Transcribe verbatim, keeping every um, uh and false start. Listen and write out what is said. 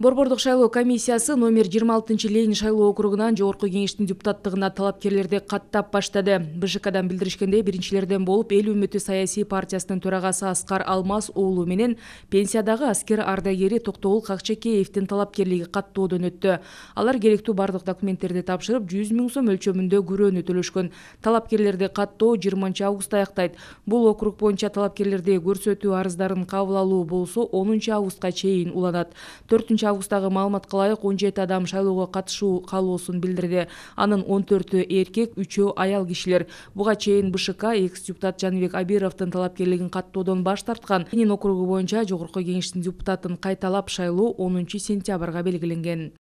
Борбордук шайлоо комиссиясы номер жыйырма алтынчы Ленин шайлоо округунан жогорку кеңештин депутаттыгына талапкерлерди каттап баштады. БШКдан билдиришкендей, биринчилерден болуп Эл үмүтү саясий партиясынын төрагасы Аскар Алмаз уулу менен пенсиядагы аскер ардагери Токтогул Какчекеевдин талапкерлиги каттоодон өттү. Алар керектүү бардык документтерди тапшырып, жүз миң сом өлчөмүндө күрөөнү төлөшкөн. Талапкерлерди каттоо жыйырманчы августта аяктайт. Бул округ боюнча талапкерлерди көрсөтүү арыздарын кабыл алуу болсо онунчу августка чейин уланат. төртүнчү августтагы маалыматка ылайык он жети адам шайлоого катышуу каалоосун билдирди. Анын он төртү эркек, үчөө аял кишилер. Буга чейин БШК экс-депутат Жаныбек Абировдун талапкерлигин каттоодон баш тарткан. Ленин округу боюнча жогорку кеңештин депутатын кайталап шайлоо онунчу сентябрга белгиленген.